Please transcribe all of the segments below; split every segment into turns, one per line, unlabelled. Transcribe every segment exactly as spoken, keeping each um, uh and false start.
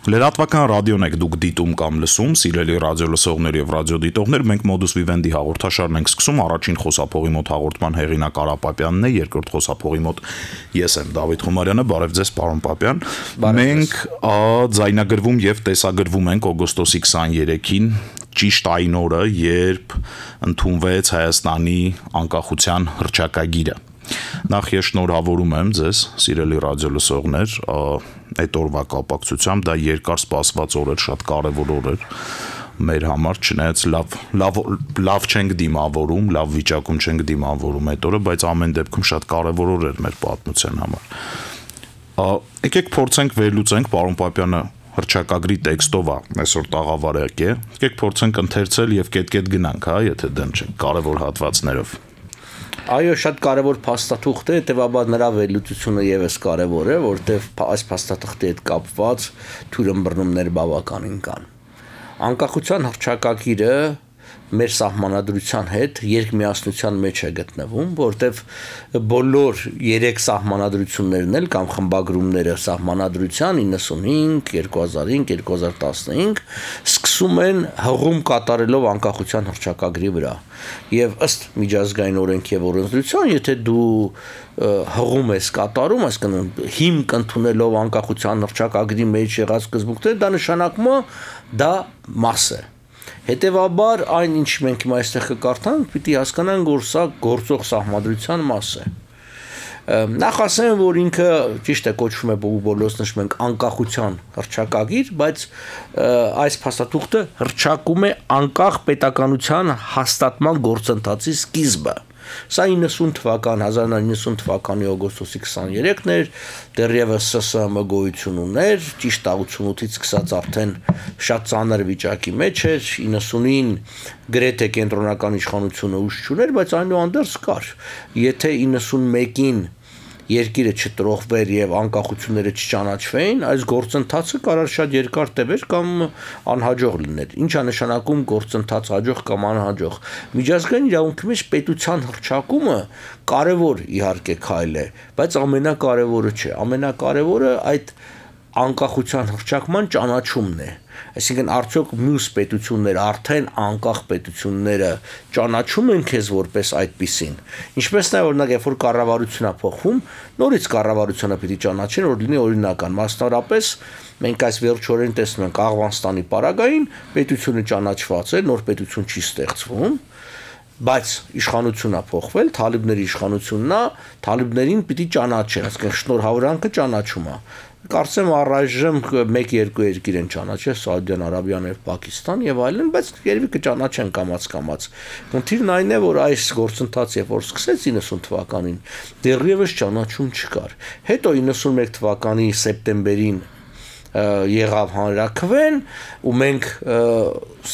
Լրատվական ռադիոն եք դուք դիտում կամ լսում, սիրելի ռադիո լսողներ եւ ռադիոդիտողներ, մենք Modus Vivendi հաղորդաշարն ենք սկսում, առաջին խոսափողի մոտ հաղորդման հեղինակ Արա Պապյանն է, երկրորդ խոսափողի մոտ ես եմ Դավիթ Խումարյանը, բարև ձեզ պարոն Պապյան։ Մենք ձայնագրվում եւ տեսագրվում ենք օգոստոսի քսաներեքին, ճիշտ այն օրը, երբ ընդունվեց Հայաստանի անկախության հռչակագիրը։ Նախ ես շնորհավորում եմ ձեզ, սիրելի ռադիո լսողներ, այդ օրվա կապակցությամբ դա երկար սպասված օր էր, շատ կարևոր օր էր մեր համար, չնայած լավ լավ լավ չենք դիմավորում, լավ վիճակում չենք դիմավորում այդ օրը, բայց ամեն դեպքում շատ կարևոր օր էր մեր պատմության համար։ Եկեք փորձենք վերլուծենք, պարոն Պապյանը հռչակագրի տեքստով է այսօր տաղավարակ է, եկեք փորձենք ընթերցել եւ կետ-կետ գնանք, հա, եթե դեմ չենք, կարևոր հատվածներով։
Այո, շատ կարևոր փաստաթուղթ է, հետեւաբար նրա վերլուծությունը եւս կարևոր է, որտեղ այս փաստաթղթի հետ կապված թույլըմբռնումներ բավականին կան։ Անկախության հռչակագիրը մեր սահմանադրության հետ երկմիասնության մեջ է գտնվում, որտեղ բոլոր երեք սահմանադրություններն էլ կամ խմբագրումները սահմանադրության իննսունհինգ, երկու հազար հինգ, երկու հազար տասնհինգ սկսում են հղում կատարելով անկախության հռչակագրի վրա։ Եվ ըստ միջազգային օրենքի եւ օրենսդրության, եթե դու հղում ես կատարում, այսինքն հիմք ընդունելով անկախության հռչակագրի մեջ եղած սկզբունքները, դա նշանակում է դա մաս է։ Հետևաբար այն ինչ մենք հիմա այստեղ կկարդանք, պիտի հասկանանք, որ սա գործող սահմանադրության մաս է։ Նախ ասեմ, որ ինքը ճիշտ է կոչվում է բոլորս նշում ենք անկախության հռչակագիր, բայց այս փաստաթուղթը հռչակում է անկախ պետականության հաստատման գործընթացի սկիզբը։ Սա իննսուն թվական, հազար նոյ իննսուն թվականի օգոստոսի քսաներեքն էր, դեռևս Սը Սը Եմ գոյություն ուներ, ճիշտ ութսունութից սկսած արդեն շատ ծանր վիճակի մեջ էր, իննսունին գրեթե կենտրոնական իշխանությունը ուժ չուներ, բայց այնուհանդերձ կար։ Եթե իննսունմեկին երկիրը չտրողվեր եւ անկախությունները չճանաչվեին, այս գործընթացը կարող շատ երկար տևեր կամ անհաջող լիներ։ Ինչ է նշանակում գործընթաց հաջող կամ անհաջող։ Միջազգային իրավունքի մեջ պետության հռչակումը կարևոր իհարկե քայլ է, բայց ամենակարևորը չէ։ Ամենակարևորը այդ անկախության հռչակման ճանաչումն է։ Այսինքն արդյոք մյուս պետությունները արդեն անկախ պետությունները ճանաչում են քեզ որպես այդպիսին։ Ինչպես նաև օրինակ երբ որ կառավարությունն է փոխվում, նորից կառավարությունը պիտի ճանաչեն, որ լինի օրինական։ Մասնավորապես մենք այս վերջորեն տեսնում ենք Աղվանստանի պարագային պետությունը ճանաչված է, նոր պետություն չի ստեղծվում, բայց իշխանությունն է փոխվել, թալիբների իշխանությունն է, թալիբներին պիտի ճանաչեն, այսինքն շնորհավորանքը ճանաչում է։ Կարծեմ առայժմ մեկ-երկու երկիր են ճանաչել, Սաուդյան Արաբիան եւ Պակիստան եւ այլն, բայց երևի կճանաչեն կամաց-կամաց։ Խնդիրն այն է, որ այս գործընթացը երբ որ սկսեց իննսուն թվականին, դեռևս ճանաչում չկար։ Հետո իննսունմեկ թվականի սեպտեմբերին եղավ հանրաքվեն, ու մենք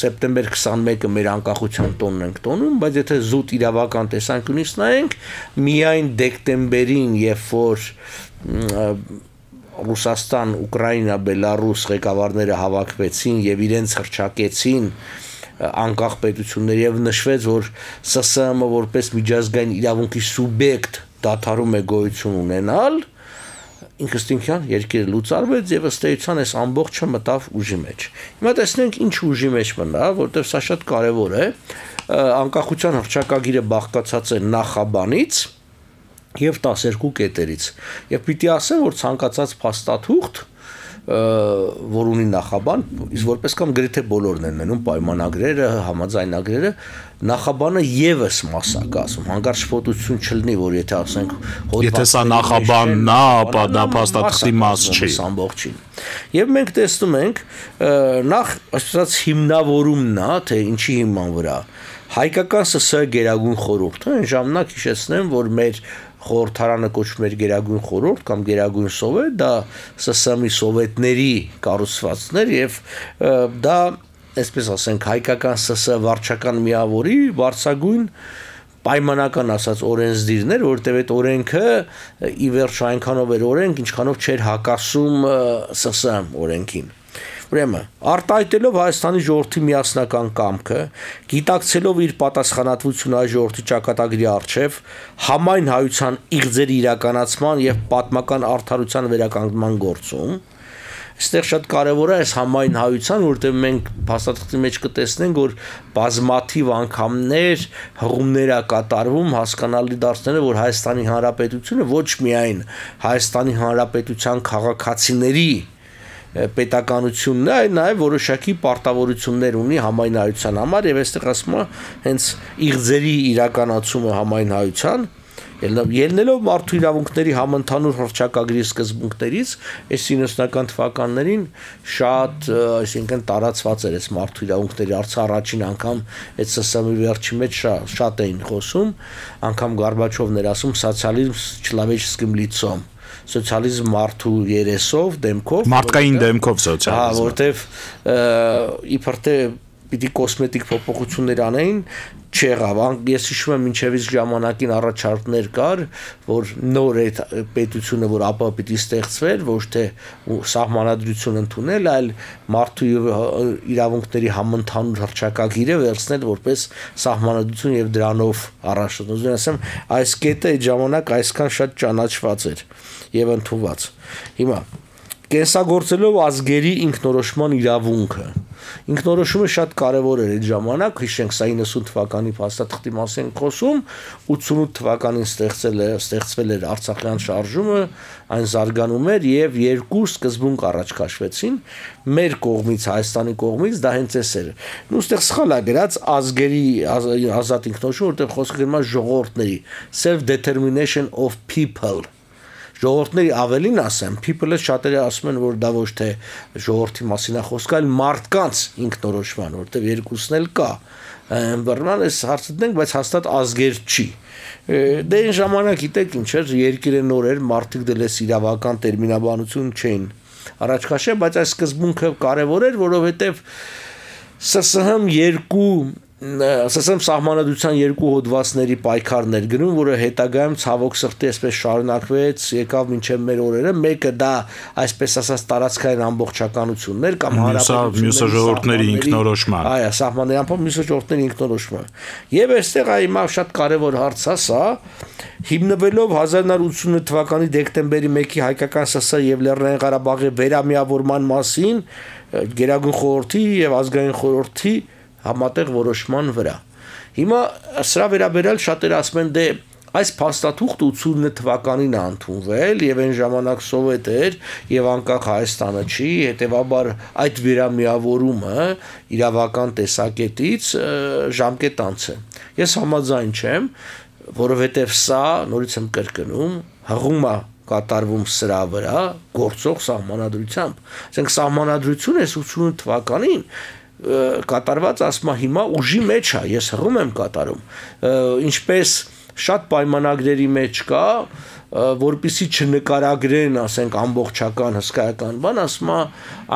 սեպտեմբեր քսանմեկը մեր անկախության տոնն ենք տոնում, բայց եթե զուտ իրավական տեսանկյունից նայենք, միայն դեկտեմբերին, երբ որ Ռուսաստան, Ուկրաինա, Բելարուս ղեկավարները հավաքվեցին եւ իրենց հռչակեցին անկախ պետություններ եւ նշվեց, որ Սը Սը Եմ-ը որպես միջազգային իրավունքի սուբյեկտ դադարում է գոյություն ունենալ, ինքնստինքյան երկիրը լուծարվեց եւ ըստ էության այս ամբողջը մտավ ուժի մեջ։ Հիմա տեսնենք ինչ ուժի մեջ մնա, որտեղ սա շատ կարեւոր է։ Անկախության հռչակագիրը բաղկացած է նախաբանից եւ տասներկու կետերից։ Եվ պիտի ասեմ, որ ցանկացած փաստաթուղթ, որ ունի նախաբան, իսկ որպես կամ գրեթե բոլորն են նայում պայմանագրերը, համաձայնագրերը, նախաբանը եւս մասակ ասում, հանկարծ շփոթություն չլինի, որ եթե ասենք
եթե սա նախաբանն է, ապա դա փաստաթղթի մաս չի
ամբողջին։ Եվ մենք տեսնում ենք նախ ասած հիմնավորումն է, թե ինչի հիման վրա հայկական Սը Սը Գերագույն խորհուրդը, այն ժամանակ հիշեցնեմ, որ մեր խորհրդարանը կոչվում էր Գերագույն խորհուրդ կամ Գերագույն սովետ, դա Սը Սը Էմի սովետների կառուցվածքներ եւ դա, այսպես ասենք, հայկական Սը Սը վարչական միավորի բարձրագույն պայմանական ասած օրենսդիրներ, որտեղ այդ օրենքը ի վերջո այնքանով էր օրենք, ինչքանով չէր հակասում Սը Սը Էմ օրենքին։ Ուրեմն, արտահայտելով Հայաստանի ժողովրդի միասնական կամքը, գիտակցելով իր պատասխանատվությունը այս ժողովրդի ճակատագրի առջև, համայն հայության իղձերի իրականացման եւ պատմական արդարության վերականգնման գործում, Այստեղ շատ կարևոր է այս համայն հայության, որտեղ մենք փաստաթղթի մեջ կտեսնենք, որ բազմաթիվ անգամներ հղումներ է կատարվում հասկանալի դարձնելը, որ Հայաստանի Հանրապետությունը ոչ միայն Հայաստանի Հանրապետության քաղաքացիների պետականությունն է, այլ նաև որոշակի պարտավորություններ ունի համայն հայության համար եւ այստեղ ասում եմ հենց իղձերի իրականացումը համայն հայության ելնելով մարդու իրավունքների համընդհանուր հռչակագրի սկզբունքներից այս իննսունական թվականներին շատ, այսինքն տարածված էր այս մարդու իրավունքների հարցը առաջին անգամ այդ ՍՍՄ-ի վերջի մեջ շատ, շատ էին խոսում, անգամ Գորբաչովն էր ասում սոցիալիզմ չլավեչеским лицом սոցիալիզմ մարդու երեսով, դեմքով,
մարդկային դեմքով սոցիալիզմ։
Հա, որտեվ իբր թե պիտի կոսմետիկ փոփոխություններ անեին, չեղավ։ Ես հիշում եմ մինչև իսկ ժամանակին առաջարկներ կար, որ նոր այդ պետությունը, որ ապա պիտի ստեղծվեր, ոչ թե սահմանադրություն ընդունել, այլ մարդու իրավունքների համընդհանուր հռչակագիրը վերցնել որպես սահմանադրություն եւ դրանով առաջ։ Ուզում ասեմ, այս կետը այդ ժամանակ այսքան շատ ճանաչված էր եւ ընդունված։ Հիմա կենսագործելով ազգերի ինքնորոշման իրավունքը ինքնորոշումը շատ կարևոր էր այդ ժամանակ, հիշենք սա իննսուն թվականի փաստաթղթի մասին խոսում, ութսունութ թվականին ստեղծել է, ստեղծվել էր Արցախյան շարժումը, այն զարգանում էր եւ երկու սկզբունք առաջ քաշվեցին մեր կողմից, Հայաստանի կողմից, դա հենց էս էր։ Ու ստեղ սխալ է գրած ազգերի ազատ ինքնորոշում, որտեղ խոսքը գնում է ժողովուրդների self determination of people ժողովուրդների ավելին ասեմ, people-ը շատերը ասում են, որ դա ոչ թե ժողովրդի մասին է խոսքը, այլ մարդկանց ինքնորոշման, որտեղ երկուսն էլ կա։ Բռնան այս հարցը դենք, բայց հաստատ ազգեր չի։ Դե այն ժամանակ գիտեք ինչ էր, երկիրը նոր էր, մարդիկ դելես իրավական տերմինաբանություն չէին առաջ քաշել, բայց այս սկզբունքը կարևոր էր, որովհետև ՍՍՀ-ն երկու ՍՍՀ սահմանադրության երկու հոդվածների պայքարն էր գնում, որը հետագայում ցավոք սրտի այսպես շարունակվեց, եկավ մինչև մեր օրերը, մեկը դա այսպես ասած տարածքային ամբողջականությունն էր կամ
հանրապետությունների մյուսը ժողովուրդների ինքնորոշման։
Այո, սահմանների ամբողջ մյուսը ժողովուրդների ինքնորոշումը։ Եվ այստեղ այ հիմա շատ կարևոր հարց է սա, հիմնվելով հազար նոր ութսունութ թվականի դեկտեմբերի մեկի հայկական ՍՍ եւ Լեռնային Ղարաբաղի վերամիավորման մասին Գերագույն խորհրդի եւ ազգային խորհրդի համատեղ որոշման վրա։ Հիմա սրա վերաբերյալ շատերը ասում են դե այս փաստաթուղթը ութսունութ թվականին է ընդունվել եւ այն ժամանակ սովետ էր եւ անկախ Հայաստանը չի, հետեւաբար այդ վերամիավորումը իրավական տեսակետից ժամկետանց է։ Ես համաձայն չեմ, որովհետեւ սա նորից եմ կրկնում, հղում է կատարվում սրա վրա գործող սահմանադրությամբ։ Ասենք սահմանադրությունը ութսունութ թվականին կատարված ասма հիմա ուժի մեջ է, ես հղում եմ կատարում, ինչպես շատ պայմանագրերի մեջ կա, որպեսզի չնկարագրեն, ասենք ամբողջական հսկայական բան, ասма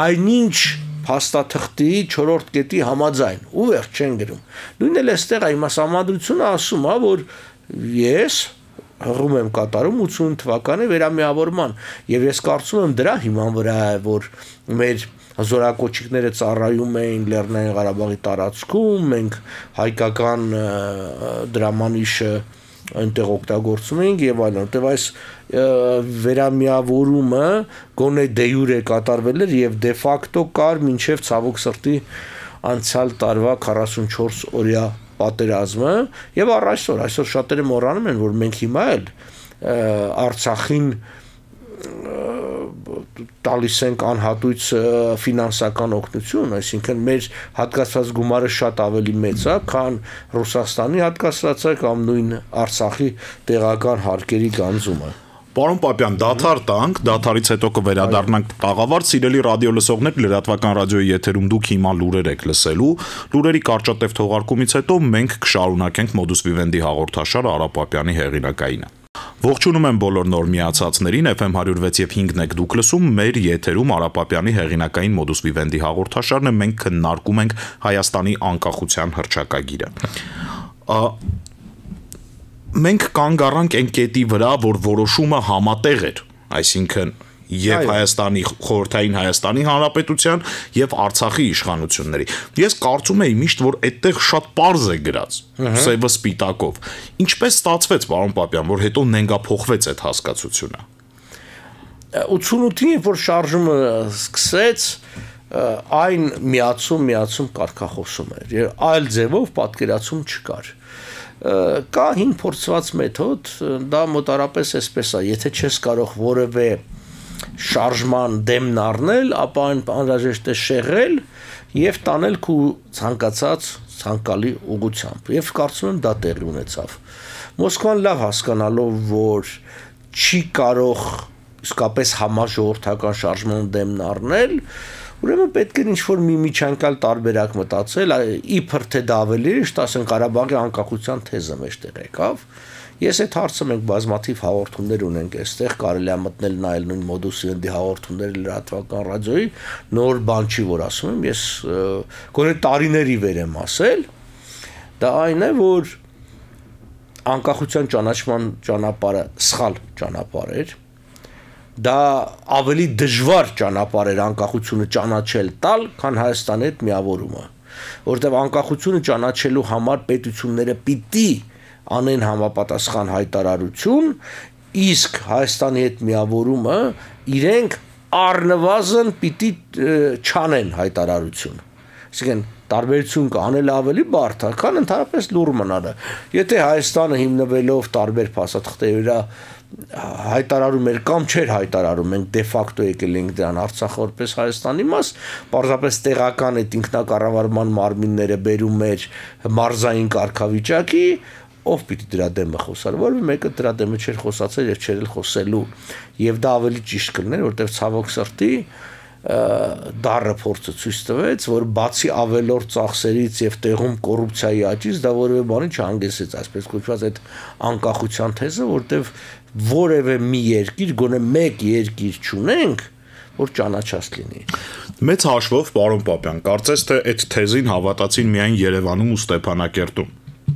այնինչ փաստաթղթի չորրորդ կետի համաձայն, ու վերջ չեն գրում։ Նույնն էլ էստեղ այ սահմանադրությունը ասում է, որ ես հղում եմ կատարում ութսունութ թվականի վերամիավորման, եւ ես կարծում եմ դրա հիման վրա է, որ մեր զորակոչիկները ծառայում էին Լեռնային Ղարաբաղի տարածքում, մենք հայկական դրամանիշը այնտեղ օգտագործում ենք եւ այլն, որտեղ այս վերամիավորումը գոնե դե յուրե կատարվել էր եւ դե ֆակտո կար մինչեւ ցավոք սրտի անցյալ տարվա քառասունչորս օրյա պատերազմը եւ առ այսօր այսօր շատերը մոռանում են, որ մենք հիմա էլ Արցախին տալիս ենք անհատույց ֆինանսական օգնություն, այսինքն մեր հատկացված գումարը շատ ավելի մեծ է, քան Ռուսաստանի հատկացվածը կամ նույն Արցախի տեղական հարկերի գանձումը։
Պարոն Պապյան, դադար տանք, դադարից հետո կվերադառնանք տաղավարտ, սիրելի ռադիո լսողներ, լրատվական ռադիոյի եթերում դուք հիմա լուրեր եք լսելու, լուրերի կարճատև թողարկումից հետո մենք կշարունակենք Modus Vivendi հաղորդաշարը Արա Պապյանի հեղինակայինը։ Ողջունում եմ բոլոր նոր միացածներին, F M one oh six եւ five եք դուք լսում, մեր եթերում Արա Պապյանի հեղինակային Modus Vivendi հաղորդաշարն է, մենք քննարկում ենք Հայաստանի անկախության հռչակագիրը։ Մենք կանգ առանք այն կետի վրա, որ որոշումը համատեղ էր, այսինքն եւ Հայաստանի խորհրդային Հայաստանի Հանրապետության եւ Արցախի իշխանությունների։ Ես կարծում եի միշտ, որ այդտեղ շատ պարզ է գրած, սևը սպիտակով։ Ինչպես ստացվեց, պարոն Պապյան, որ հետո նենգափոխվեց այդ հասկացությունը։
ութսունութին երբ որ շարժումը սկսեց, այն միացում միացում կարգախոսում էր, այլ ձևով պատկերացում չկար։ Կա հին փորձված մեթոդ, դա մոտարապես այսպես է, եթե չես կարող որևէ շարժման դեմն առնել, ապա այն անհրաժեշտ է շեղել եւ տանել քու ցանկացած ցանկալի ուղղությամբ։ Եվ կարծում եմ դա տեղի ունեցավ։ Մոսկվան լավ հասկանալով, որ չի կարող իսկապես համաժողովրդական շարժման դեմն առնել, ուրեմն պետք է ինչ-որ մի միջանկյալ տարբերակ մտածել, իբր թե դա ավելի ճիշտ, ասենք Ղարաբաղի անկախության թեզը մեջտեղ եկավ։ Ես այդ հարցը մենք բազմաթիվ հաղորդումներ ունենք այստեղ, կարելի է մտնել նայել նույն մոդուսի ընդի հաղորդումները լրատվական ռադիոյի, նոր բան չի, որ ասում եմ, ես գոնե տարիների վեր եմ ասել, դա այն է, որ անկախության ճանաչման ճանապարհը սխալ ճանապարհ էր, դա ավելի դժվար ճանապարհ էր անկախությունը ճանաչել տալ, քան Հայաստանի հետ միավորումը, որովհետև անկախությունը ճանաչելու համար պետությունները պիտի անեն համապատասխան հայտարարություն, իսկ Հայաստանի հետ միավորումը իրենք առնվազն պիտի չանեն հայտարարություն։ Այսինքն տարբերություն կանել ավելի բարդ է, քան ընդհանրապես լուռ մնալը։ Եթե Հայաստանը հիմնվելով տարբեր փաստաթղթերի վրա հայտարարում էր կամ չէր հայտարարում, մենք դե ֆակտո եկել ենք դրան Արցախը որպես Հայաստանի մաս, պարզապես տեղական այդ ինքնակառավարման մարմինները բերում էր մարզային կարգավիճակի, ով պիտի դրա դեմը խոսար, որը մեկը դրա դեմը չէր խոսացել եւ չէր էլ խոսելու, եւ դա ավելի ճիշտ կլիներ, որտեղ ցավոք սրտի դառը փորձը ցույց տվեց, որ բացի ավելորդ ծախսերից եւ տեղում կոռուպցիայի աճից դա որևէ բանի չհանգեցրեց, այսպես կոչված այդ անկախության թեզը, որտեղ որևէ մի երկիր, գոնե մեկ երկիր չունենք, որ ճանաչած լինի։
Մեծ հաշվով, պարոն Պապյան, կարծես թե այդ թեզին հավատացին միայն Երևանում ու Ստեփանակերտում։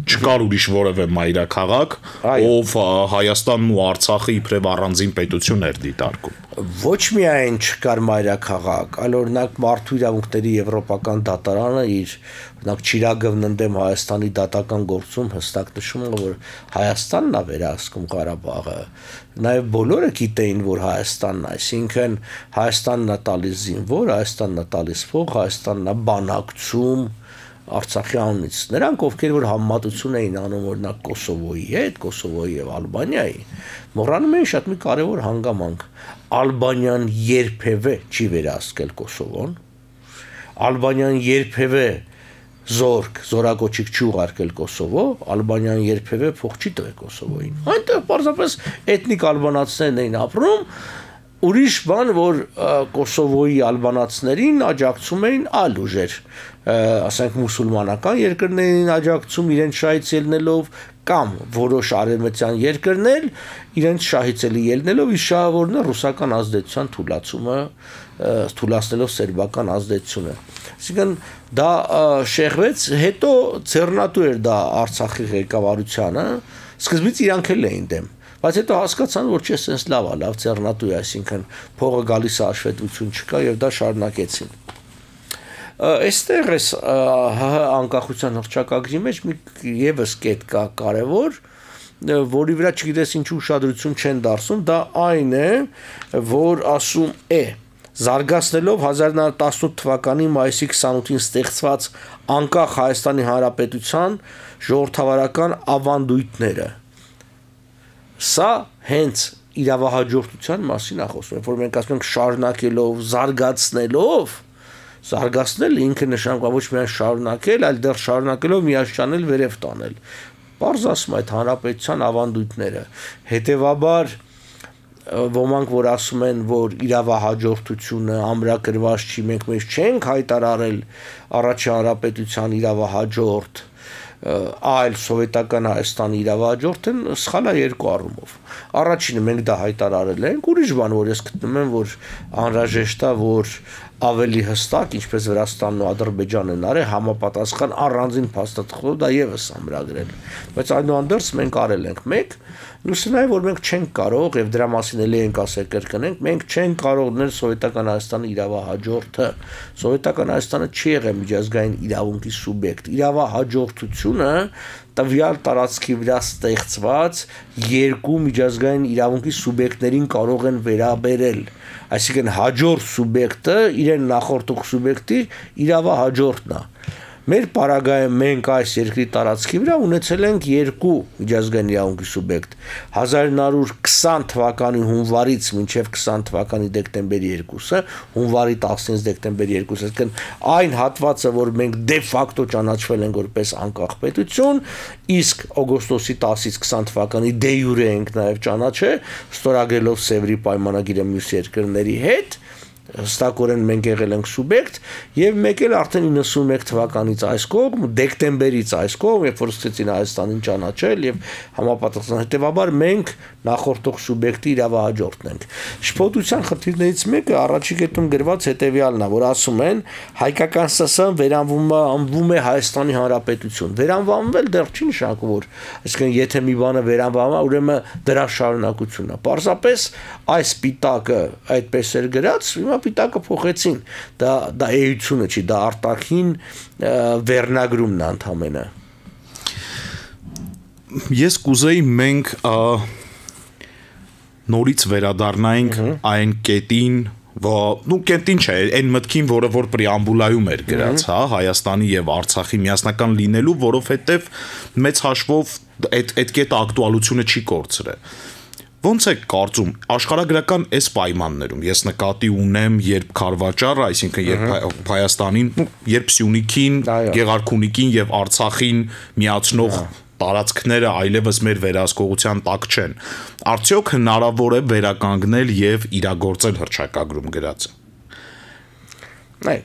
Չկար ուրիշ որևէ մայրաքաղաք, ով Հայաստանն ու Արցախը իբրև առանձին պետություն էր դիտարկում։
Ոչ միայն չկար մայրաքաղաք, այլ օրինակ մարդու իրավունքների եվրոպական դատարանը իր օրինակ Չիրագովն ընդդեմ Հայաստանի դատական գործում հստակ նշում է, որ Հայաստանն է վերահսկում Ղարաբաղը։ Նաև բոլորը գիտեին, որ Հայաստանն է, այսինքն Հայաստանն է տալիս զինվոր, Հայաստանն է տալիս փող, Հայաստանն է բանակցում Արցախի անունից։ Նրանք, ովքեր որ համեմատություն էին անում օրինակ Կոսովոյի հետ, Կոսովոյի եւ Ալբանիայի, մոռանում էին շատ մի կարևոր հանգամանք։ Ալբանիան երբևէ չի վերահսկել Կոսովոն։ Ալբանիան երբևէ զորք, զորակոչիկ չի ուղարկել Կոսովո, Ալբանիան երբևէ փող չի տվել Կոսովոյին։ Այնտեղ պարզապես էթնիկ ալբանացիներն էին ապրում, ուրիշ բան, որ Կոսովոյի ալբանացիներին աջակցում էին այլ ուժեր, ասենք մուսուլմանական երկրներին աջակցում իրենց շահից ելնելով կամ որոշ արևմտյան երկրներ իրենց շահից ելնելով իր շահավորն է ռուսական ազդեցության թուլացումը, թուլացնելով սերբական ազդեցությունը։ Այսինքն դա շեղվեց, հետո ձեռնատու էր դա Արցախի ղեկավարությանը, սկզբից իրանք էլ էին դեմ, բայց հետո հասկացան, որ չէ, սենց լավ է, լավ ձեռնատու է, այսինքն փողը գալիս է, հաշվետվություն չկա եւ դա շարունակեցին։ Այստեղ էս ՀՀ անկախության հռչակագրի մեջ մի եւս կետ կա կարեւոր, որի վրա չգիտես ինչ ուշադրություն չեն դարձնում, դա այն է, որ ասում է զարգացնելով հազար նոց տասնութ թվականի մայիսի քսանութին ստեղծված անկախ Հայաստանի Հանրապետության ժողովրդավարական ավանդույթները։ Սա հենց իրավահաջորդության մասին է խոսում, որ մենք ասում ենք շարունակելով, զարգացնելով, զարգացնել ինքը նշանակում ոչ միայն շարունակել, այլ դեռ շարունակելով միաշանել վերև տանել։ Պարզ ասում այդ հանրապետության ավանդույթները։ Հետևաբար ոմանք որ ասում են, որ իրավահաջորդությունը ամրագրված չի, մենք մեզ չենք հայտարարել առաջին հանրապետության իրավահաջորդ, այլ սովետական Հայաստանի իրավահաջորդ են, սխալ է երկու առումով։ Առաջինը մենք դա հայտարարել ենք, ուրիշ բան, որ ես գտնում եմ, որ անհրաժեշտ է, որ ավելի հստակ, ինչպես Վրաստանն ու Ադրբեջանն են արել, համապատասխան առանձին փաստաթղթով դա եւս ամրագրել։ Բայց այնուհանդերձ մենք արել ենք մեկ, Մյուսը նաև որ մենք չենք կարող եւ դրա մասին էլի ենք ասել կրկնենք, մենք չենք կարող նել սովետական Հայաստանի իրավահաջորդը։ Սովետական Հայաստանը չի եղել միջազգային իրավունքի սուբյեկտ։ Իրավահաջորդությունը տվյալ տարածքի վրա ստեղծված երկու միջազգային իրավունքի սուբյեկտներին կարող են վերաբերել։ Այսինքն հաջորդ սուբյեկտը իրեն նախորդող սուբյեկտի իրավահաջորդն է։ Մեր պարագայում մենք այս երկրի տարածքի վրա ունեցել ենք երկու միջազգային իրավունքի սուբյեկտ հազար նոր քսան թվականի հունվարից մինչև քսան թվականի դեկտեմբերի երկուսը, հունվարի տասնինը դեկտեմբերի երկուսը, այսինքն այն հատվածը, որ մենք դե ֆակտո ճանաչվել ենք որպես անկախ պետություն, իսկ օգոստոսի տասից քսան թվականի դե յուրե ենք նաև ճանաչել, ստորագրելով Սևրի պայմանագիրը մյուս երկրների հետ, հստակորեն մենք եղել ենք սուբյեկտ եւ մեկ էլ արդեն իննսունմեկ թվականից այս կողմ դեկտեմբերից այս կողմ երբ որ սկսեցին Հայաստանին ճանաչել եւ համապատասխան հետեւաբար մենք նախորդող սուբյեկտի իրավահաջորդն ենք շփոթության խնդիրներից մեկը առաջի կետում գրված հետեւյալն է որ ասում են հայկական ՍՍ-ն վերանվում է անվում է Հայաստանի Հանրապետություն վերանվանվել դեռ չի նշանակում որ այսինքն եթե մի բանը վերանվանում է ուրեմն դրա շարունակությունն է պարզապես այս պիտակը այդպես էր գրած հիմա պիտակը փոխեցին դա դա էությունը չի դա արտաքին վերնագրումն է ընդհանրապես
ես կուզեի մենք նորից վերադառնայինք այն կետին նու կետին չէ այն մտքին որը որ պրեամբուլայում էր գրած հա Հայաստանի եւ Արցախի միասնական լինելու որովհետեւ մեծ հաշվով այդ այդ կետը ակտուալությունը չի կորցրել Ոնց է կարծում աշխարհագրական այս պայմաններում ես նկատի ունեմ երբ Խարվաճարը, այսինքն երբ Հայաստանին, երբ Սյունիքին, Գեղարքունիքին եւ Արցախին միացնող տարածքները այլևս մեր վերահսկողության տակ չեն։ Արդյոք հնարավոր է վերականգնել եւ իրագործել հռչակագրում գրածը։
Այ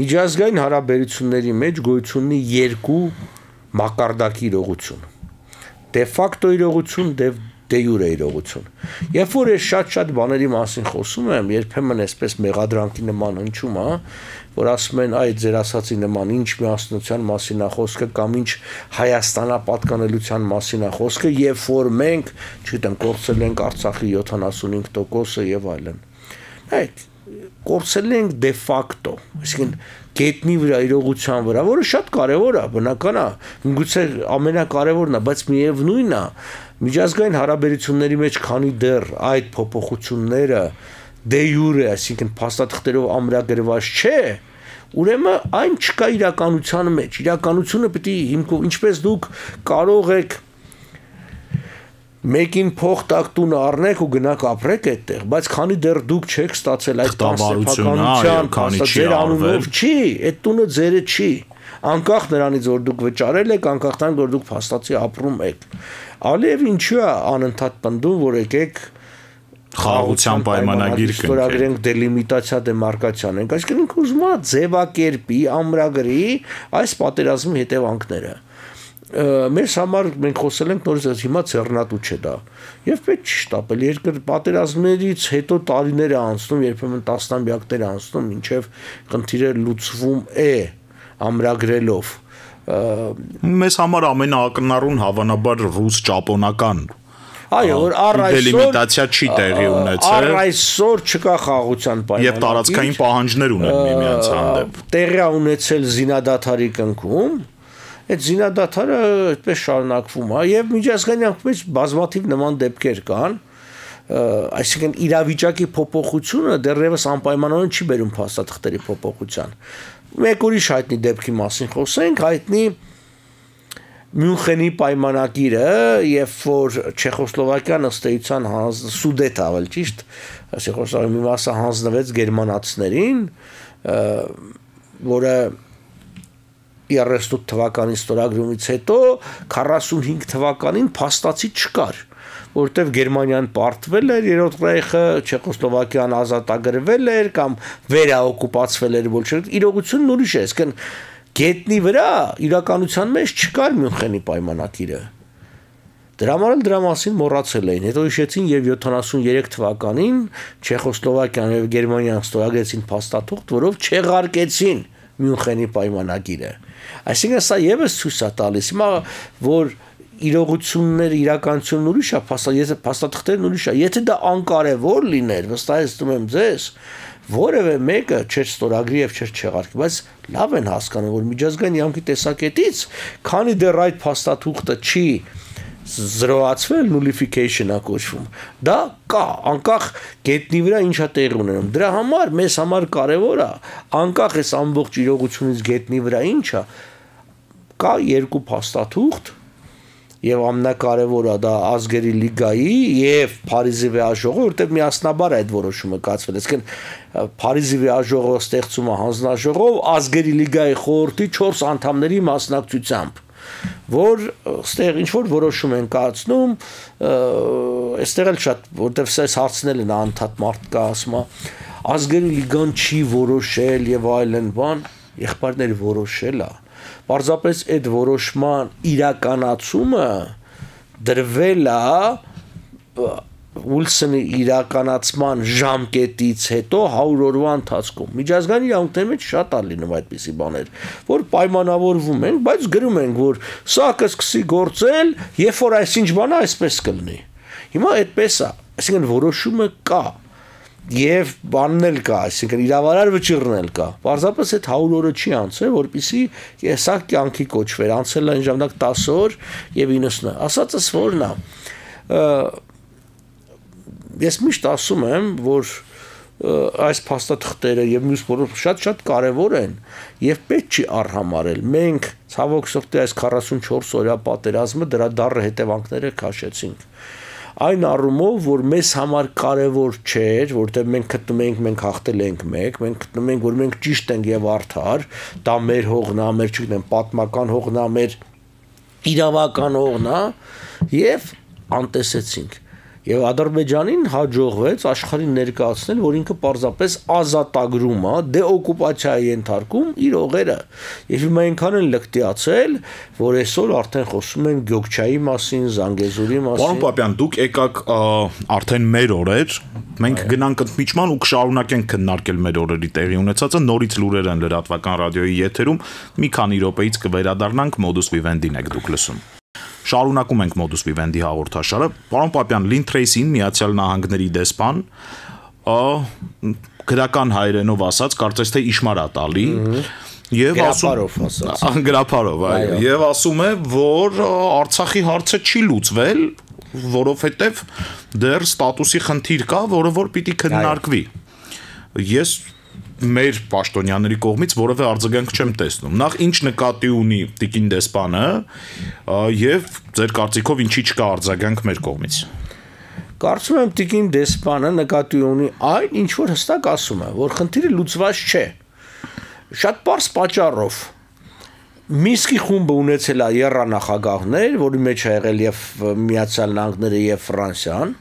միջազգային հարաբերությունների մեջ գոյություն ունի երկու մակարդակի իրողություն։ Դե ֆակտո իրողություն, դե դե յուրե իրողություն։ Երբ որ ես շատ-շատ բաների մասին խոսում եմ, երբեմն այսպես մեղադրանքի նման հնչում է, որ ասում են, այ ձեր ասացի նման ինչ միասնության մասին է խոսքը կամ ինչ Հայաստանապատկանելիության մասին է խոսքը, երբ որ մենք, չգիտեմ, կորցրել ենք Արցախի յոթանասունհինգ տոկոսը եւ այլն։ Այդ կորցրել ենք դե ֆակտո, այսինքն գետնի վրա իրողության վրա, որը շատ կարևոր է, բնական է, միգուցե ամենակարևորն է, բայց միևնույնն է, միջազգային հարաբերությունների մեջ քանի դեռ այդ փոփոխությունները դե յուրե, այսինքն փաստաթղթերով ամրագրված չէ, ուրեմն այն չկա իրականության մեջ, իրականությունը պետք է հիմքով, ինչպես դուք կարող եք մեկին փող տակ տուն առնեք ու գնաք ապրեք այդտեղ, բայց քանի դեռ դուք չեք ստացել այդ տասնեփականության, քանի ձեր անունով չի, այդ տունը ձերը չի, անկախ նրանից որ դուք վճարել եք, անկախ նրանից որ դուք փաստացի ապրում եք։ Ալիև ինչու է անընդհատ պնդում, որ եկեք
խաղաղության պայմանագիր
կնքենք դելիմիտացիա դեմարկացիան ենք, այսինքն ինքը ուզում է ձևակերպի, ամրագրի այս պատերազմի հետևանքները։ Մեզ համար մենք խոսել ենք նորից հիմա ցեռնատու չէ դա եւ պետք չի շտապել երկր պատերազմներից հետո տարիներ է անցնում երբեմն տասնամյակներ անցնում մինչեւ խնդիրը լուծվում է ամրագրելով
մեզ համար ամենաակնառուն հավանաբար ռուս-ճապոնական
այո որ առ այսօր
դելիմիտացիա չի տեղի ունեցել
առ այսօր չկա խաղաղության պայմանագիր
եւ տարածքային պահանջներ ունեն միմյանց հանդեպ
տեղի ունեցել զինադադարի կնքում Այդ զինադադարը այդպես շարունակվում է եւ միջազգային անկումից բազմաթիվ նման դեպքեր կան այսինքն իրավիճակի փոփոխությունը դեռևս անպայմանորեն չի բերում փաստաթղթերի փոփոխության մեկ ուրիշ հայտնի դեպքի մասին խոսենք հայտնի Մյունխենի պայմանագիրը երբ որ Չեխոսլովակիան ըստ էության Սուդետ ավել ճիշտ Չեխոսլովակիայի մի մասը հանձնվեց գերմանացիներին որը երեսուն թվականի ստորագրումից հետո քառասունհինգ թվականին փաստացի չկար որտեվ Գերմանիան պարտվել էր երրորդ ռեյխը Չեխոսլովակիան ազատագրվել էր կամ վերաօկուպացվել էր բոլշևիկ իրողությունն ուրիշ է այսինքն գետնի վրա իրականության մեջ չկար Մյունխենի պայմանագիրը դրա համար էլ դրա մասին մոռացել էին հետո հիշեցին եւ յոթանասուներեք թվականին Չեխոսլովակիան եւ Գերմանիան ստորագրեցին փաստաթուղթ որով չեղարկեցին Մյունխենի պայմանագիրը Այսինքն սա եւս ցույց է տալիս հիմա որ իրողությունները, իրականությունն ուրիշ է, փաստաթղթերն ուրիշ է։ Եթե դա անկարևոր լիներ, վստահեցնում եմ ձեզ, որևէ մեկը չէր ստորագրի եւ չէր չեղարկի, բայց լավ են հասկանում, որ միջազգային իրավունքի տեսակետից, քանի դեռ այդ փաստաթուղթը չի զրոացվել, nullification-ա կոչվում։ Դա կա, անկախ գետնի վրա ինչա տեղի ունենում։ Դրա համար մեզ համար կարևոր է, անկախ այս ամբողջ իրողությունից գետնի վրա ինչա, կա երկու փաստաթուղթ եւ ամենակարևորը դա ազգերի լիգայի եւ Փարիզի վեաժողովը, որտեղ միասնաբար այդ որոշումը կայացվել։ Այսինքն Փարիզի վեաժողովը ստեղծում է հանձնաժողով ազգերի լիգայի խորհրդի չորս անդամների մասնակցությամբ, որ այստեղ ինչ որ որոշում են կայացնում, այստեղ էլ շատ, որտեղ սես հարցնել են անդադ մարդ կա, ասում է ազգերի լիգան չի որոշել եւ այլն բան, եղբայրները որոշել է։ Պարզապես այդ որոշման իրականացումը դրվել է Ուիլսոնի իրականացման ժամկետից հետո հարյուր օրվա ընթացքում։ Միջազգային իրավունքների մեջ շատ է լինում այդպիսի բաներ, որ պայմանավորվում են, բայց գրում են, որ սա կսկսի գործել, երբ որ այսինչ բանը այսպես կլինի։ Հիմա այդպես է, այսինքն որոշումը կա։ Եվ բանն էլ կա, այսինքն իրավարար վճիռն էլ կա։ Պարզապես այդ հարյուր օրը չի անցել, որպեսզի սա կյանքի կոչվեր, անցել այն ժամանակ տասը օր եւ իննսուն։ Ասածս որն է։ Ես միշտ ասում եմ, որ այս փաստաթղթերը եւ մյուս բոլոր շատ-շատ կարեւոր են եւ պետք չի արհամարել։ Մենք ցավոք սրտի այս քառասունչորս օրյա պատերազմը դրա դառը հետևանքները քաշեցինք։ Այն առումով, որ մեզ համար կարևոր չէր, որտեղ մենք գտնում ենք, մենք հաղթել ենք մեկ, մենք գտնում ենք, որ մենք ճիշտ ենք եւ արդար, դա մեր հողն է, մեր չգիտեմ, պատմական հողն է, մեր իրավական հողն է, եւ անտեսեցինք։ Եվ Ադրբեջանին հաջողվեց աշխարհին ներկայացնել, որ ինքը պարզապես ազատագրում է, դեօկուպացիայի ենթարկում իր հողերը։ Եվ հիմա այնքան են լկտիացել, որ այսօր արդեն խոսում են Գյոքչայի մասին, Զանգեզուրի մասին։
Պարոն Պապյան, դուք եկաք արդեն մեր օրեր, մենք գնանք ընդմիջման ու կշարունակենք քննարկել մեր օրերի տեղի ունեցածը, նորից լուրեր են լրատվական ռադիոյի եթերում, մի քանի րոպեից կվերադառնանք, Modus Vivendi-ն եք դուք լսում։ Շարունակում ենք Modus Vivendi հաղորդաշարը։ Պարոն Պապյան, Լին Թրեյսին, Միացյալ Նահանգների դեսպան, գրական հայերենով ասած, կարծես թե իշմար է տալի, եւ ասում գրապարով, այո, եւ ասում է, որ Արցախի հարցը չի լուծվել, որովհետեւ դեռ ստատուսի խնդիր կա, որը որ պիտի քննարկվի։ Ես մեր պաշտոնյաների կողմից որևէ արձագանք չեմ տեսնում։ Նախ ինչ նկատի ունի տիկին դեսպանը եւ ձեր կարծիքով ինչի չկա արձագանք մեր կողմից։
Կարծում եմ տիկին դեսպանը նկատի ունի այն, ինչ որ հստակ ասում է, որ խնդիրը լուծված չէ։ Շատ པարզ պատճառով։ Միսկի խումբը ունեցել է եռանախագահներ, որի մեջ է եղել եւ Միացյալ Նահանգները եւ Ֆրանսիան։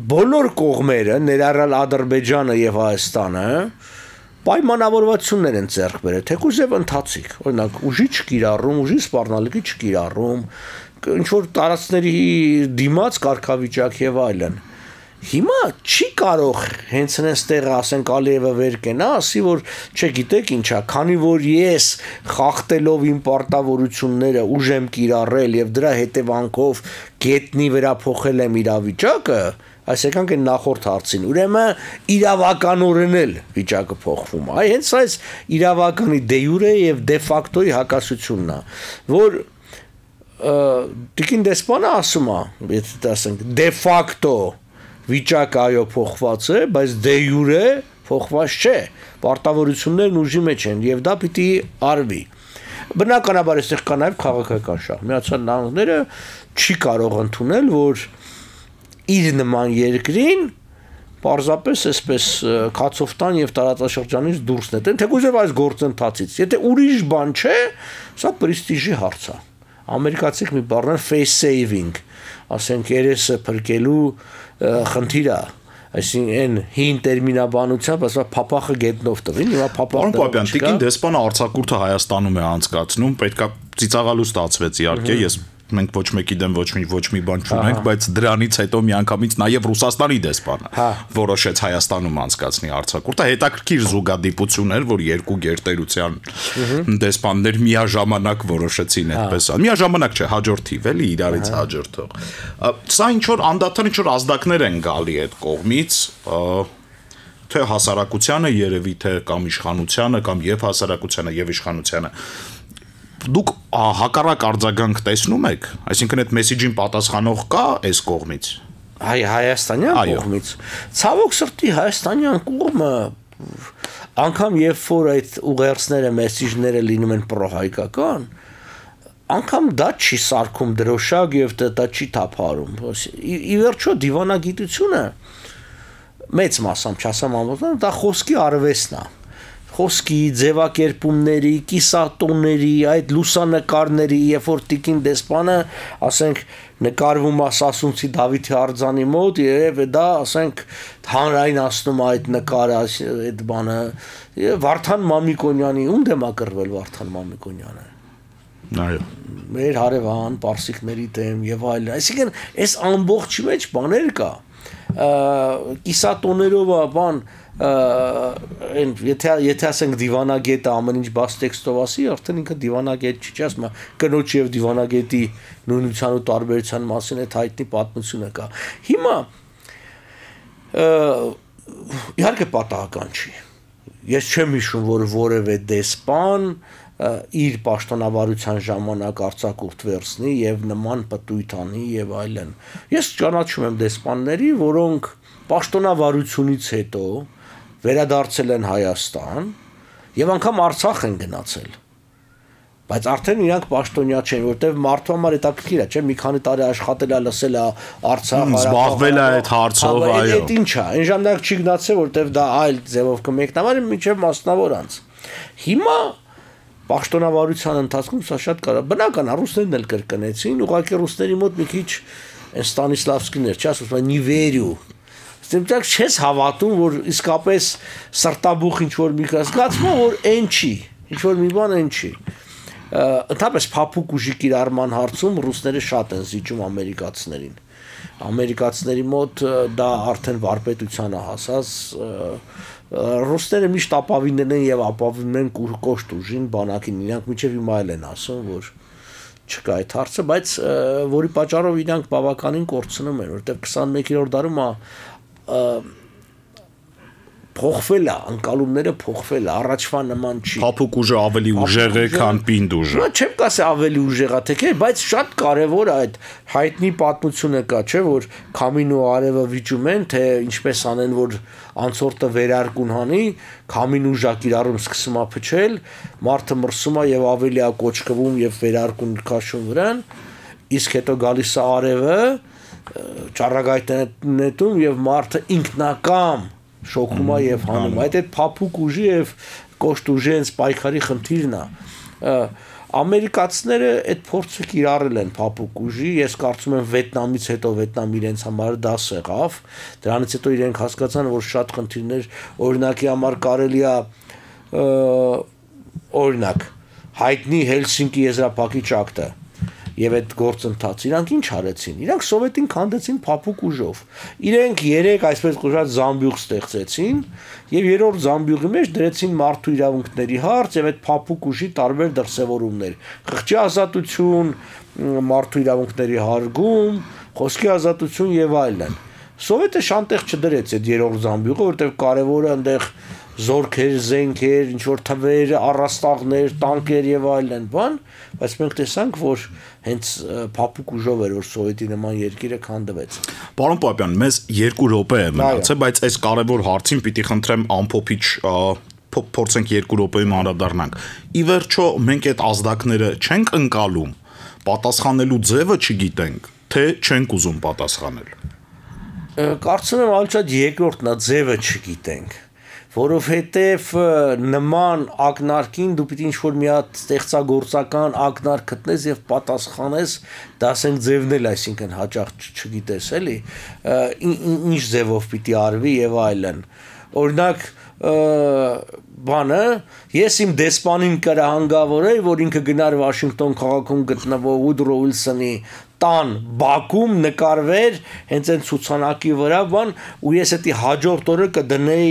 Բոլոր կողմերը, ներառյալ Ադրբեջանը եւ Հայաստանը, պայմանավորվածություններ են ձեռք բերել, թեկուզ եւ ընթացիկ։ Օրինակ, ուժի չկիրառում, ուժի սպառնալիքի չկիրառում, ինչ որ տարածքների դիմաց կարգավիճակ եւ այլն։ Հիմա չի կարող հենց այնտեղ ասենք Ալիևը վեր կենա, ասի որ չգիտեք ինչա, քանի որ ես խախտելով իմ պարտավորությունները ուժ եմ կիրառել եւ դրա հետևանքով գետնի վրա փոխել եմ իրավիճակը, այսինքն այն նախորդ հարցին, ուրեմն իրավականորեն էլ վիճակը փոխվում է։ Այ հենց այս իրավականի դե յուրե եւ դե ֆակտոյի հակասությունն է, որ տիկին դեսպանը ասում է, եթե ասենք դե ֆակտո վիճակը այո փոխված է, բայց դե յուրե փոխված չէ։ Պարտավորություններն ուժի մեջ են եւ դա պիտի արվի։ Բնականաբար այստեղ կա նաեւ քաղաքական շահ։ Միացյալ Նահանգները չի կարող ընդունել, որ իր նման երկրին պարզապես այսպես քացոֆտան եւ տարածաշրջանից դուրս նետեն, թեկուզ եւ այս գործընթացից։ Եթե ուրիշ բան չէ, սա պրեստիժի հարց է։ Ամերիկացիք մի բառն face saving, ասենք երեսը փրկելու խնդիր է, այսինքն հին տերմինաբանությամբ ասա փապախը գետնով տվին, հիմա փապախը։
Պարոն Պապյան, տիկին դեսպանը արձակուրդը Հայաստանում է անցկացնում, պետքա ծիծաղալու ստացվեց իհարկե, ես մենք ոչ մեկի դեմ ոչ մի ոչ մի բան չունենք, բայց դրանից հետո միանգամից նաև Ռուսաստանի դեսպանը որոշեց Հայաստանում անցկացնի արձակուրդը, հետաքրքիր զուգադիպություն էր, որ երկու գերտերության դեսպաններ միաժամանակ որոշեցին այդպես, միաժամանակ չէ, հաջորդ թիվ էլի իրարից հաջորդող։ Սա ինչ որ անդադար ինչ որ ազդակներ են գալի այդ կողմից, թե հասարակությանը երևի թե կամ իշխանությանը կամ եւ հասարակությանը եւ իշխանությանը դուք հակառակ արձագանք տեսնում եք, այսինքն այդ մեսեջին պատասխանող կա այս կողմից։
Հայ Հայաստանյան կողմից։ Ցավոք սրտի Հայաստանյան կողմը անգամ երբ որ այդ ուղերձները, մեսեջները լինում են պրոհայկական, անգամ դա չի սարքում դրոշակ եւ դա չի թափարում։ Ի վերջո դիվանագիտությունը մեծ մասամբ չասեմ ամբողջությամբ դա խոսքի արվեստն է, խոսքի ձևակերպումների, կիսատոների, այդ լուսանկարների, երբ որ տիկին դեսպանը, ասենք, նկարվում է Սասունցի Դավիթի արձանի մոտ, եւ դա, ասենք, հանրայնացնում է այդ նկարը, այդ բանը, Վարդան Մամիկոնյանի, ում դեմ է կռվել Վարդան Մամիկոնյանը։
Այո։
Մեր հարևան, պարսիկների դեմ եւ այլն։ Այսինքն, այս ամբողջի մեջ բաներ կա։ Կիսատոներով բան այն եթե եթե ասենք դիվանագետը ամեն ինչ բաց տեքստով ասի, արդեն ինքը դիվանագետ չի, ասում կնոջ եւ դիվանագետի նույնության ու տարբերության մասին այդ հայտնի պատմությունը կա։ Հիմա իհարկե պատահական չի։ Ես չեմ հիշում, որ որևէ դեսպան իր պաշտոնավարության ժամանակ արձակուրդ վերցնի եւ նման պտույտ անի եւ այլն։ Ես ճանաչում եմ դեսպանների, որոնք պաշտոնավարությունից հետո վերադարձել են Հայաստան եւ անգամ Արցախ են գնացել։ Բայց արդեն իրանք պաշտոնյա չեն, որտեվ մարդու համար հետաքրքիր է, չէ՞, մի քանի տարի աշխատել է, լսել է Արցախ,
զբաղվել է այդ հարցով, այո։
Այդ ինչ է, այն ժամանակ չի գնացել, որտեվ դա այլ ձևով կմեկնաբանի, մինչև մասնավոր անց։ Հիմա պաշտոնավարության ընթացքում սա շատ կարա, բնական է, ռուսներն էլ կրկնեցին, ուղղակի ռուսների մոտ մի քիչ Ստանիսլավսկին էր, չի ասում, նիվերյու։ Ստեմտակ չես հավատում, որ իսկապես սրտաբուխ ինչ որ մի զգացում է, որ այն չի, ինչ որ մի բան այն չի։ Ընդհանրապես փափուկ ուժի կիրառման հարցում ռուսները շատ են զիջում ամերիկացիներին։ Ամերիկացիների մոտ դա արդեն վարպետության է հասած, ռուսները միշտ ապավինել են եւ ապավինում են կոշտ ուժին, բանակին, իրանք մինչեւ հիմա էլ են ասում, որ չկա այդ հարցը, բայց որի պատճառով իրանք բավականին կորցնում են, որտեղ քսանմեկերորդ դարում փոխվել է, անկալումները փոխվել է, առաջվա նման չի։
Փափուկ ուժը ավելի ուժեղ է, քան պինդ ուժը։
Նա չեմ կասի ավելի ուժեղ է, թե չէ, բայց շատ կարևոր է այդ հայտնի պատմությունը կա, չէ, որ քամին ու արևը վիճում են, թե ինչպես անեն, որ անցորդը վերարկուն հանի, քամին ու ժակիրառում սկսում է փչել, մարդը մրսում է եւ ավելի է կոճկվում եւ վերարկուն քաշում վրան, իսկ հետո գալիս է արևը, ճառագայթն նետում եւ մարդը ինքնակամ շոկում է եւ հանում։ Այդ այդ փափուկ ուժի եւ կոշտ ուժի հենց պայքարի խնդիրն է։ Ամերիկացիները այդ փորձը կիրառել են փափուկ ուժի, ես կարծում եմ Վիետնամից հետո Վիետնամ իրենց համար դաս եղավ, դրանից հետո իրենք հասկացան, որ շատ խնդիրներ, օրինակի համար կարելի է օրինակ հայտնի Հելսինկի եզրափակիչ ակտը եւ այդ գործընթացը իրանք ինչ արեցին, իրանք սովետին քանդեցին փափուկ ուժով, իրենք երեք այսպես կոչված զամբյուղ ստեղծեցին եւ երրորդ զամբյուղի մեջ դրեցին մարդու իրավունքների հարց եւ այդ փափուկ ուժի տարբեր դրսեւորումներ, խղճի ազատություն, մարդու իրավունքների հարգում, խոսքի ազատություն եւ այլն։ Սովետը շանտեղ չդրեց այդ երրորդ զամբյուղը, որտեղ կարևորը այնտեղ զորքեր, զենքեր, ինչ որ թվեր, առաստաղներ, տանկեր եւ այլն բան, բայց մենք տեսանք, որ հենց փափուկ ուժով էր, որ սովետի նման երկիրը քանդվեց։
Պարոն Պապյան, մեզ երկու րոպե է մնացել, բայց այս կարևոր հարցին պիտի խնդրեմ ամփոփիչ փորձենք երկու րոպեում անդրադառնանք։ Ի վերջո մենք այդ ազդակները չենք ընկալում, պատասխանելու ձևը չգիտենք, թե չենք ուզում պատասխանել։
Կարծում եմ ալչած երկրորդն է, ձևը չգիտենք, որովհետև նման ակնարկին դու պիտի ինչ-որ մի հատ ստեղծագործական ակնարկ գտնես եւ պատասխանես, դա ասենք ձևն էլ, այսինքն հաճախ չգիտես, էլի, ինչ ձևով պիտի արվի եւ այլն։ Օրինակ բանը, ես իմ դեսպանին կրահանգավորեի, որ ինքը գնար Վաշինգտոն քաղաքում գտնվող Ուդրո Ուիլսոնի տան Բաքում նկարվեր հենց այն ցուցանակի վրա, բան, ու ես էդի հաջորդ օրը կդնեի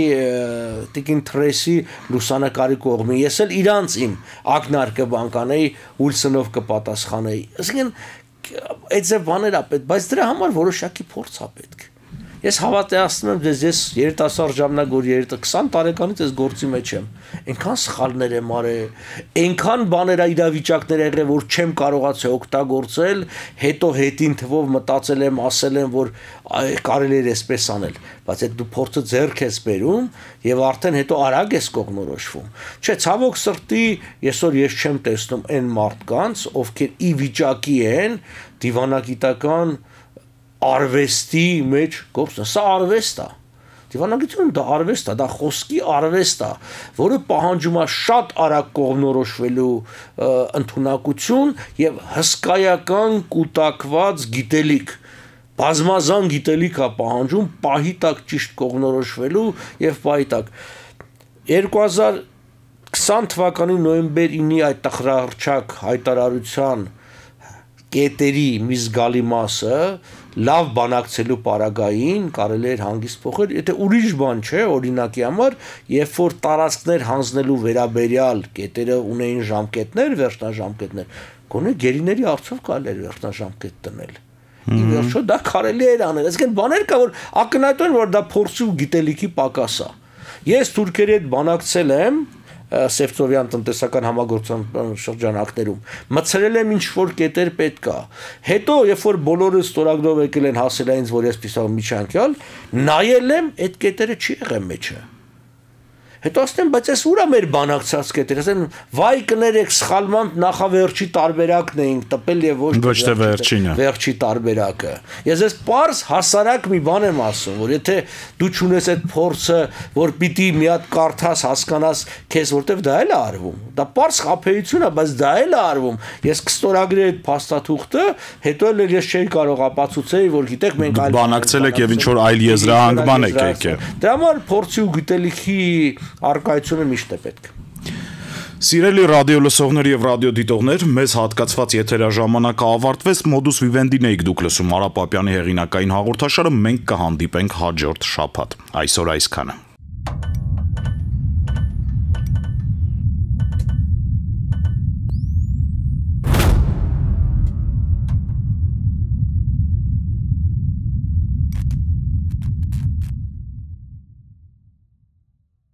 Տիկին Թրեսի լուսանկարի կողմին։ Ես էլ իրանց իմ ակնարկը բան կանեի, Ուիլսոնով կպատասխանեի։ Այսինքն այդ ձև բաներ ա պետք, բայց դրա համար որոշակի փորձ ա պետք։ Ես հավատացնում եմ ձեզ, ես երիտասարդ ժամանակ որ երիտասարդ քսան տարեկանից ես գործի մեջ եմ, այնքան սխալներ եմ արել, այնքան բաներ իրավիճակներ եղել, որ չեմ կարողացել օգտագործել, հետո հետին թվով մտածել եմ, ասել եմ, որ կարելի է այսպես անել, բայց այդ դու փորձը ձեռք ես բերում եւ արդեն հետո արագ ես կողմնորոշվում։ Չէ, ցավոք սրտի, այսօր ես չեմ տեսնում այն մարդկանց, ովքեր ի վիճակի են դիվանագիտական արվեստի մեջ գործը, սա արվեստ է։ Դիվանագիտությունը դա արվեստ է, դա խոսքի արվեստ է, որը պահանջում է շատ արագ կողմնորոշվելու ընդունակություն եւ հսկայական կուտակված գիտելիք։ Բազմազան գիտելիք է պահանջում պահի տակ ճիշտ կողմնորոշվելու եւ պահի տակ։ երկու հազար քսան թվականի նոյեմբեր ինի այդ տխրահռչակ հայտարարության կետերի մի զգալի մասը լավ բանակցելու պարագային կարելի էր հանգիստ փոխել, եթե ուրիշ բան չէ, օրինակի համար, երբ որ տարածքներ հանձնելու վերաբերյալ կետերը ունեին ժամկետներ, վերջնաժամկետներ, գոնե գերիների արդյոք կարելի էր վերջնաժամկետ դնել։ Ի վերջո դա կարելի էր անել, այսինքն բաներ կա, որ ակնհայտ են, որ դա փորձի ու գիտելիքի պակաս է։ Ես թուրքերի հետ բանակցել եմ Սևծովյան տնտեսական համագործակցության շրջանակներում մցրել եմ ինչ որ կետեր պետք է։ Հետո երբ որ բոլորը ստորագրով եկել են հասել այնց, որ ես պիսավ միջանկյալ, նայել եմ, այդ կետերը չի եղել մեջը։ Հետո ասեմ, բայց այս ուրա մեր բանակցած կետերը, ասեմ, վայ կներեք, սխալման նախավերջի տարբերակն էինք տպել եւ ոչ
թե վերջինը։
Վերջի տարբերակը։ Ես ես պարզ հասարակ մի բան եմ ասում, որ եթե դու չունես այդ փորձը, որ պիտի մի հատ կարդաս, հասկանաս, քեզ որտեվ դա էլ է արվում։ Դա պարզ խափեություն է, բայց դա էլ է արվում։ Ես կստորագրեի այդ փաստաթուղթը, հետո էլ ես չէի կարող ապացուցեի, որ գիտեք մենք այլ
բանակցել եք եւ ինչ որ այլ եզրահանգման եք եկել։
Դրա համար փորձի ու գիտելիքի արկայությունը միշտ է պետք։
Սիրելի ռադիո լսողներ եւ ռադիոդիտողներ, մեզ հատկացված եթերաժամանակը ավարտվեց, Modus Vivendi-ն եք դուք լսում Արա Պապյանի հեղինակային հաղորդաշարը, մենք կհանդիպենք հաջորդ շաբաթ։ Այսօր այսքանը։